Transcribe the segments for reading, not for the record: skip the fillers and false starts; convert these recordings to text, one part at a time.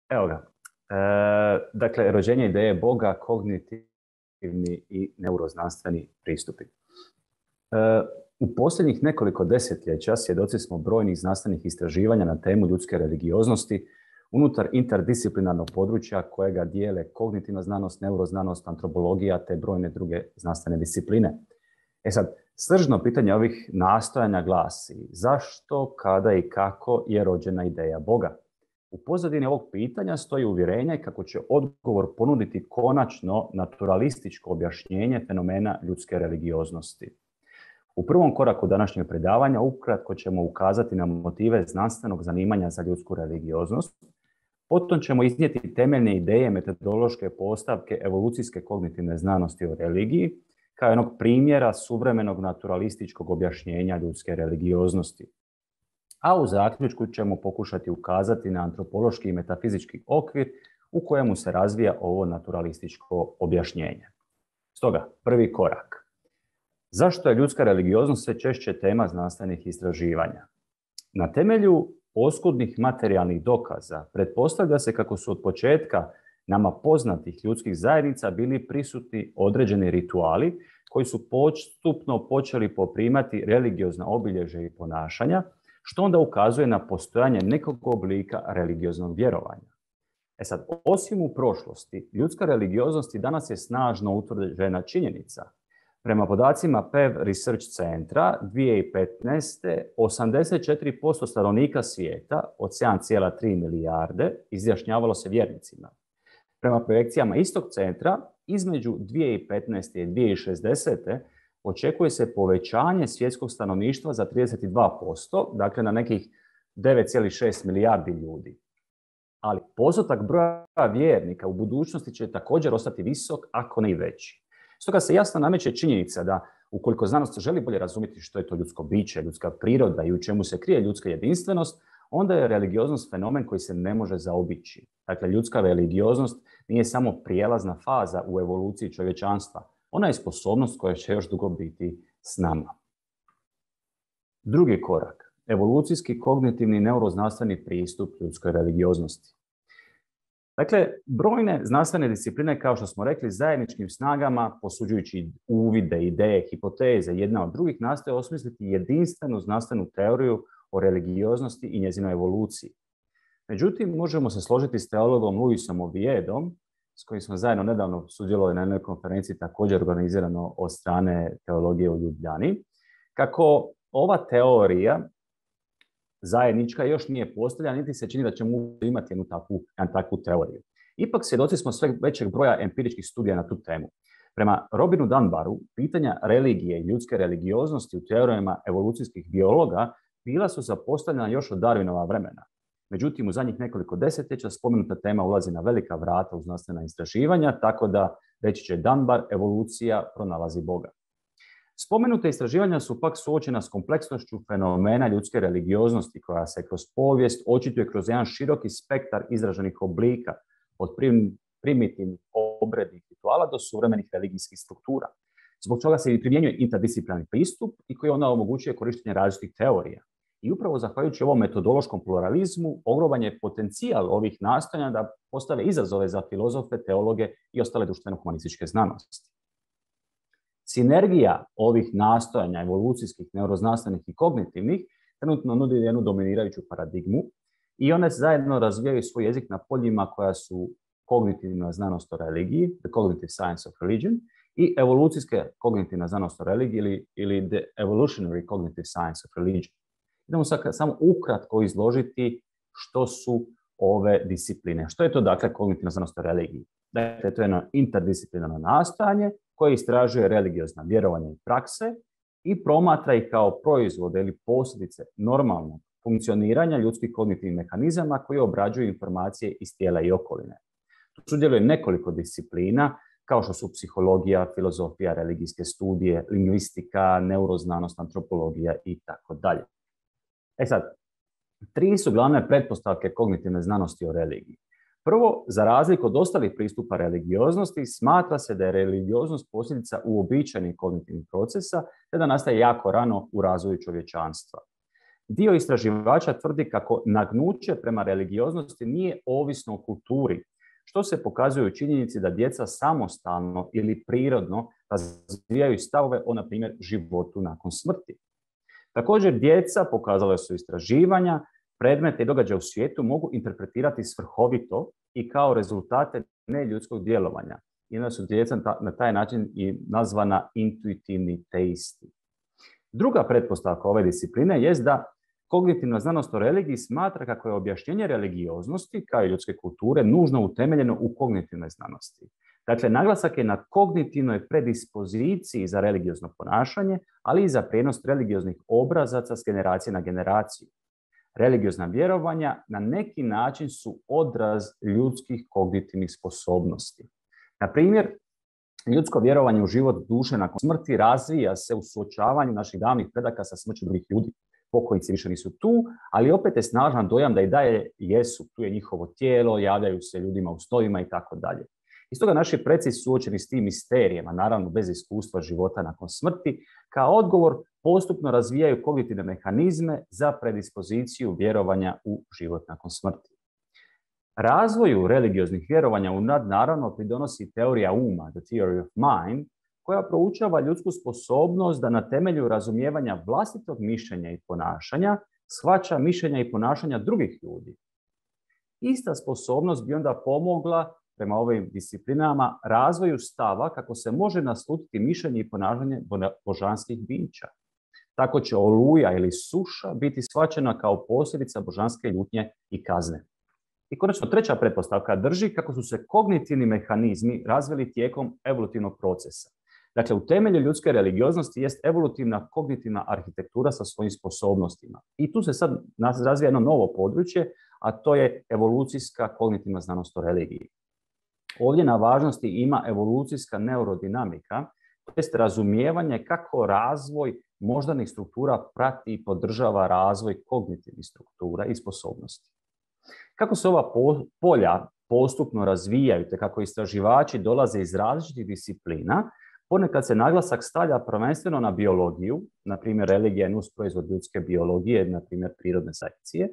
Evo ga. Dakle, rođenje ideje Boga, kognitivni i neuroznanstveni pristupi. U posljednjih nekoliko desetljeća svjedoci smo brojnih znanstvenih istraživanja na temu ljudske religioznosti unutar interdisciplinarnog područja kojega dijele kognitivna znanost, neuroznanost, antropologija te brojne druge znanstvene discipline. Sad, sržno pitanje ovih nastojanja glasi: zašto, kada i kako je rođena ideja Boga? U pozadini ovog pitanja stoji uvjerenje kako će odgovor ponuditi konačno naturalističko objašnjenje fenomena ljudske religioznosti. U prvom koraku današnjeg predavanja ukratko ćemo ukazati na motive znanstvenog zanimanja za ljudsku religioznost. Potom ćemo iznijeti temeljne ideje metodološke postavke evolucijske kognitivne znanosti o religiji, kao jednog primjera suvremenog naturalističkog objašnjenja ljudske religioznosti. A u zaključku ćemo pokušati ukazati na antropološki i metafizički okvir u kojemu se razvija ovo naturalističko objašnjenje. Stoga, prvi korak. Zašto je ljudska religioznost sve češće tema znanstvenih istraživanja? Na temelju oskudnih materijalnih dokaza pretpostavlja se kako su od početka nama poznatih ljudskih zajednica bili prisutni određeni rituali koji su postupno počeli poprimati religiozna obilježja i ponašanja, što onda ukazuje na postojanje nekog oblika religioznog vjerovanja. Sad, osim u prošlosti, ljudska religioznost i danas je snažno utvrđena činjenica. Prema podacima PEV Research Centra 2015. 84% stanovnika svijeta od 7,3 milijarde izjašnjavalo se vjernicima. Prema projekcijama istog centra, između 2015. i 2060. očekuje se povećanje svjetskog stanovništva za 32%, dakle na nekih 9,6 milijardi ljudi. Ali postotak broja vjernika u budućnosti će također ostati visok, ako ne i veći. Stoga se jasno nameće činjenica da ukoliko znanost želi bolje razumjeti što je to ljudsko biće, ljudska priroda i u čemu se krije ljudska jedinstvenost, onda je religioznost fenomen koji se ne može zaobići. Dakle, ljudska religioznost nije samo prijelazna faza u evoluciji čovječanstva. Ona je sposobnost koja će još dugo biti s nama. Drugi korak. Evolucijski kognitivni neuroznanstveni pristup ljudskoj religioznosti. Dakle, brojne znanstvene discipline, kao što smo rekli, zajedničkim snagama, posuđujući uvide, ideje, hipoteze, jedna od drugih, nastoje osmisliti jedinstvenu znanstvenu teoriju o religioznosti i njezinoj evoluciji. Međutim, možemo se složiti s teologom Luisom Oviedom, s kojim smo zajedno nedavno sudjelovali na jednoj konferenciji također organizirano od strane teologije u Ljubljani, kako ova teorija zajednička još nije postavljena, niti se čini da ćemo imati jednu takvu teoriju. Ipak svjedoci smo sve većeg broja empiričkih studija na tu temu. Prema Robinu Dunbaru, pitanja religije i ljudske religioznosti u teorijama evolucijskih biologa bila su zapostavljena još od Darwinova vremena. Međutim, u zadnjih nekoliko desetljeća spomenuta tema ulazi na velika vrata u znanstvena istraživanja, tako da, reći će Dunbar, evolucija pronalazi Boga. Spomenute istraživanja su pak suočena s kompleksnošću fenomena ljudske religioznosti koja se kroz povijest očituje kroz jedan široki spektar izraženih oblika, od primitivnih obrednih rituala do suvremenih religijskih struktura. Zbog toga se i primjenjuje interdisciplinarni pristup i koji onda omogućuje korištenje različitih teorija. I upravo zahvaljujući ovom metodološkom pluralizmu, ogroman je potencijal ovih nastojanja da postave izazove za filozofe, teologe i ostale društveno-humanističke znanosti. Sinergija ovih nastojanja evolucijskih, neuroznanstvenih i kognitivnih trenutno nudi jednu dominirajuću paradigmu i one zajedno razvijaju svoj jezik na poljima koja su kognitivna znanost o religiji, the cognitive science of religion, i evolucijska kognitivna znanost o religiji ili the evolutionary cognitive science of religion. Idemo samo ukratko izložiti što su ove discipline. Što je to, dakle, kognitivna znanost o religiji? Dakle, to je jedno interdisciplinarno nastojanje koje istražuje religiozna vjerovanja i prakse i promatra ih kao proizvode ili posljedice normalnog funkcioniranja ljudskih kognitivnih mehanizama koji obrađuju informacije iz tijela i okoline. Tu sudjeluje nekoliko disciplina, kao što su psihologija, filozofija, religijske studije, lingvistika, neuroznanost, antropologija i tako dalje. Sad, 3 su glavne pretpostavke kognitivne znanosti o religiji. Prvo, za razliku od ostalih pristupa religioznosti, smatra se da je religioznost posljedica uobičajenih kognitivnih procesa, te da nastaje jako rano u razvoju čovječanstva. Dio istraživača tvrdi kako nagnuće prema religioznosti nije ovisno o kulturi, što se pokazuje u činjenici da djeca samostalno ili prirodno razvijaju stavove o, na primjer, životu nakon smrti. Također, djeca, pokazale su istraživanja, predmete i događaje u svijetu mogu interpretirati svrhovito i kao rezultate neljudskog djelovanja. I onda su djeca na taj način i nazvana intuitivni teisti. Druga pretpostavka ove discipline jest da kognitivna znanost o religiji smatra kako je objašnjenje religioznosti, kao i ljudske kulture, nužno utemeljeno u kognitivnoj znanosti. Dakle, naglasak je na kognitivnoj predispoziciji za religiozno ponašanje, ali i za prijenos religioznih obrazaca s generacije na generaciju. Religiozna vjerovanja na neki način su odraz ljudskih kognitivnih sposobnosti. Na primjer, ljudsko vjerovanje u život duše nakon smrti razvija se u suočavanju naših davnih predaka sa smrću drugih ljudi. Pokojnici više nisu tu, ali opet je snažan dojam da i dalje jesu. Tu je njihovo tijelo, javljaju se ljudima u snovima i tako dalje. I stoga naši preci suočeni s tim misterijama, naravno bez iskustva života nakon smrti, kao odgovor postupno razvijaju kognitivne mehanizme za predispoziciju vjerovanja u život nakon smrti. Razvoju religioznih vjerovanja u nadnaravno pridonosi teorija uma, the theory of mind, koja proučava ljudsku sposobnost da na temelju razumijevanja vlastitog mišljenja i ponašanja shvaća mišljenja i ponašanja drugih ljudi. Ista sposobnost bi onda pomogla, prema ovim disciplinama, razvoju stava kako se može naslutiti mišljenje i ponašanje božanskih bića. Tako će oluja ili suša biti shvaćena kao posljedica božanske ljutnje i kazne. I konačno, treća pretpostavka drži kako su se kognitivni mehanizmi razvili tijekom evolutivnog procesa. Dakle, u temelju ljudske religioznosti jest evolutivna kognitivna arhitektura sa svojim sposobnostima. I tu se sad razvija jedno novo područje, a to je evolucijska kognitivna znanost o religiji. Ovdje na važnosti ima evolucijska neurodinamika, to jest razumijevanje kako razvoj moždanih struktura prati i podržava razvoj kognitivnih struktura i sposobnosti. Kako se ova polja postupno razvijaju, te kako istraživači dolaze iz različitih disciplina, ponekad se naglasak stavlja prvenstveno na biologiju, na primjer religija je nusproizvod ljudske biologije, na primjer prirodne selekcije.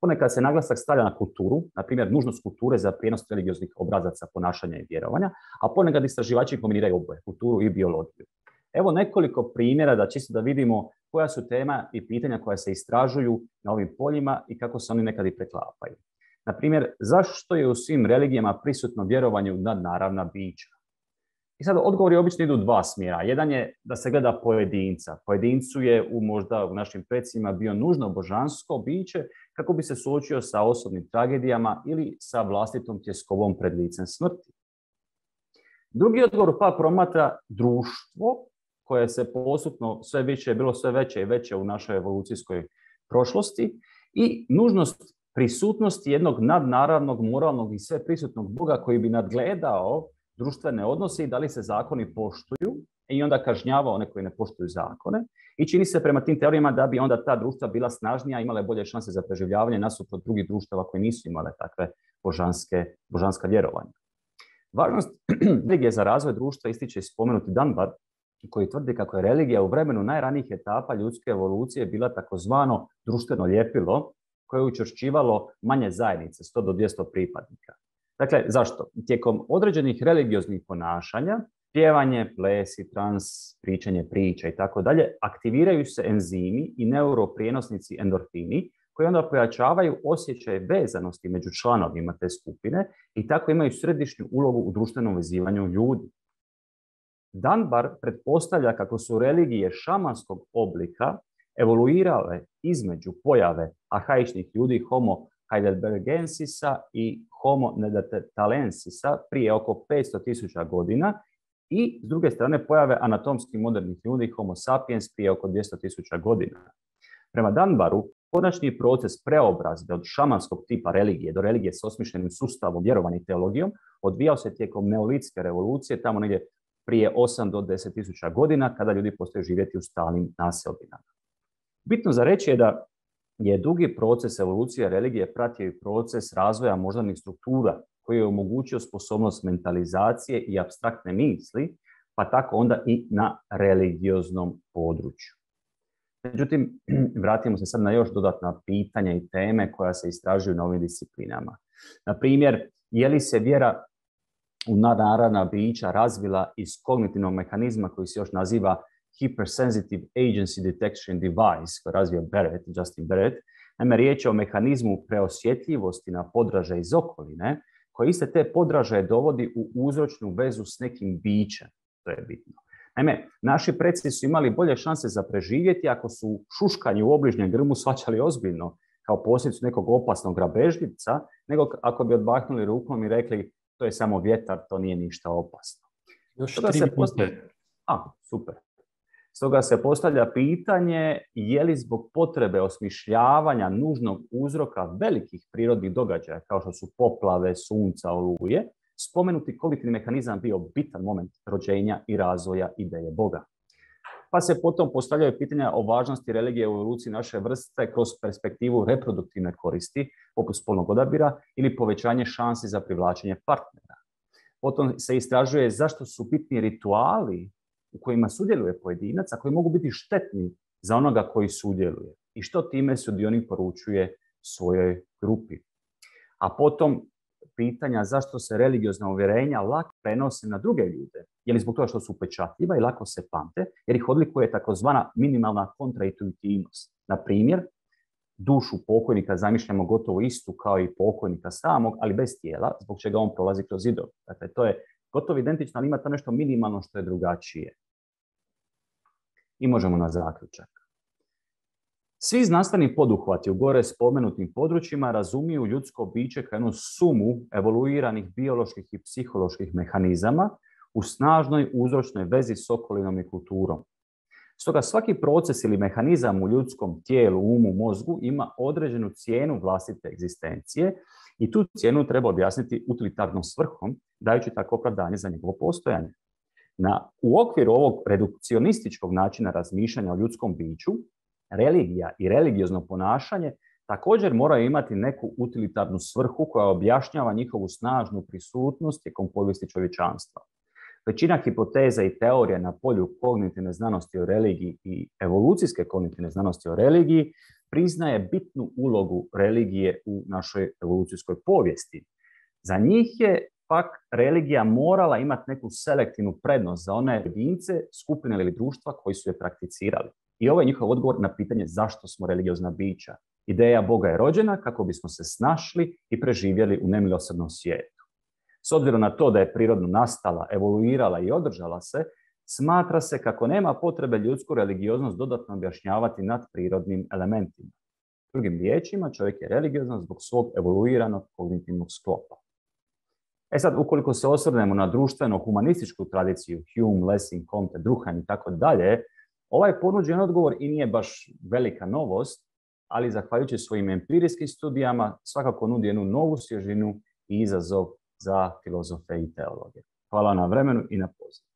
Ponekad se naglasak stavlja na kulturu, na primjer nužnost kulture za prijenos religioznih obrazaca ponašanja i vjerovanja, a ponekad istraživači kombiniraju oboje, kulturu i biologiju. Evo nekoliko primjera da čisto da vidimo koja su tema i pitanja koja se istražuju na ovim poljima i kako se oni nekad i preklapaju. Na primjer, zašto je u svim religijama prisutno vjerovanje u nadnaravna bića? I sad odgovori obično idu u dva smjera. Jedan je da se gleda pojedinca. Pojedincu je možda u našim precima bio nužno božansko biće kako bi se suočio sa osobnim tragedijama ili sa vlastitom tjeskovom pred licem smrti. Drugi odgovor pa promatra društvo koje se postupno bilo sve veće i veće u našoj evolucijskoj prošlosti i nužnost prisutnosti jednog nadnaravnog, moralnog i sve prisutnog Boga koji bi nadgledao društvene odnose i da li se zakoni poštuju i onda kažnjava one koji ne poštuju zakone. I čini se prema tim teorijama da bi onda ta društva bila snažnija, imale bolje šanse za preživljavanje nasuprot drugih društava koji nisu imale takve božanska vjerovanja. Važnost religije za razvoj društva ističe i spomenuti Dunbar, koji tvrdi kako je religija u vremenu najranijih etapa ljudske evolucije bila takozvano društveno ljepilo koje je učvršćivalo manje zajednice, 100 do 200 pripadnika. Dakle, zašto? Tijekom određenih religioznih ponašanja, pjevanje, plesi, trans, pričanje priča i tako dalje, aktiviraju se enzimi i neuroprijenosnici endorfini koji onda pojačavaju osjećaj vezanosti među članovima te skupine i tako imaju središnju ulogu u društvenom vezivanju ljudi. Dunbar pretpostavlja kako su religije šamanskog oblika evoluirale između pojave arhaičnih ljudi Homo heidelbergensisa i Homo neanderthalensisa prije oko 500.000 godina i s druge strane pojave anatomski modernih ljudi Homo sapiens prije oko 200.000 godina. Prema Dunbaru, konačni proces preobrazbe od šamanskog tipa religije do religije s osmišljenim sustavom vjerovanja i teologijom odvijao se tijekom neolitske revolucije, tamo negdje prije 8 do 10.000 godina, kada ljudi postaju živjeti u stalnim naseobinama. Bitno za reći je da je dugi proces evolucije religije pratio i proces razvoja moždanih struktura koji je omogućio sposobnost mentalizacije i apstraktne misli, pa tako onda i na religioznom području. Međutim, vratimo se sad na još dodatna pitanja i teme koja se istražuju na ovim disciplinama. Na primjer, je li se vjera u nadnaravna bića razvila iz kognitivnog mehanizma koji se još naziva Hypersensitive Agency Detection Device, koji je razvio Justin Barrett. Naime, riječ je o mehanizmu preosjetljivosti na podražaje iz okoline, koji iste te podražaje dovodi u uzročnu vezu s nekim bićem. To je bitno. Naime, naši preci su imali bolje šanse za preživjeti ako su šuškanje u obližnjem grmu shvaćali ozbiljno kao posljedicu nekog opasnog grabežljivca, nego ako bi odmahnuli rukom i rekli to je samo vjetar, to nije ništa opasno. Još 3 minute. Super. Stoga se postavlja pitanje je li zbog potrebe osmišljavanja nužnog uzroka velikih prirodnih događaja kao što su poplave, sunca, oluje, spomenuti kognitivni mehanizam bio bitan moment rođenja i razvoja ideje Boga. Pa se potom postavljaju pitanja o važnosti religije u evoluciji naše vrste kroz perspektivu reproduktivne koristi, poput spolnog odabira ili povećanje šansi za privlačenje partnera. Potom se istražuje zašto su bitni rituali u kojima sudjeluje pojedinac, a koji mogu biti štetni za onoga koji sudjeluje i što time sudionik poručuje svojoj grupi. A potom pitanja zašto se religiozna uvjerenja lako prenose na druge ljude. Je li zbog toga što su upečatljiva i lako se pamte, jer ih odlikuje takozvana minimalna kontraintuitivnost. Na primjer, dušu pokojnika zamišljamo gotovo istu kao i pokojnika samog, ali bez tijela, zbog čega on prolazi kroz zidove. Dakle, to je gotovo identično, ali ima to nešto minimalno što je drugačije. I možemo na zaključak. Svi znanstveni poduhvati u gore spomenutim područjima razumiju ljudsko biće kao jednu sumu evoluiranih bioloških i psiholoških mehanizama u snažnoj uzročnoj vezi s okolinom i kulturom. Stoga svaki proces ili mehanizam u ljudskom tijelu, umu, mozgu ima određenu cijenu vlastite egzistencije i tu cijenu treba objasniti utilitarnom svrhom, dajući tako opravdanje za njegovo postojanje. U okviru ovog redukcionističkog načina razmišljanja o ljudskom biću, religija i religiozno ponašanje također moraju imati neku utilitarnu svrhu koja objašnjava njihovu snažnu prisutnost tijekom povijesti čovječanstva. Većina hipoteza i teorija na polju kognitivne znanosti o religiji i evolucijske kognitivne znanosti o religiji priznaje bitnu ulogu religije u našoj evolucijskoj povijesti. Za njih je pak religija morala imati neku selektivnu prednost za one jedince, skupine ili društva koji su je prakticirali. I ovo je njihov odgovor na pitanje zašto smo religiozna bića. Ideja Boga je rođena kako bismo se snašli i preživjeli u nemilosrdnom svijetu. S obzirom na to da je prirodno nastala, evoluirala i održala se, smatra se kako nema potrebe ljudsku religioznost dodatno objašnjavati nad prirodnim elementima. Drugim riječima, čovjek je religiozan zbog svog evoluiranog kognitivnog sklopa. Sad, ukoliko se osvrnemo na društveno-humanističku tradiciju, Hume, Lessing, Comte, Durkheim i tako dalje, ovaj ponuđen odgovor i nije baš velika novost, ali zahvaljujući svojim empirijskim studijama svakako nudi jednu novu svježinu i izazov za filozofe i teologe. Hvala na vremenu i na pozivu.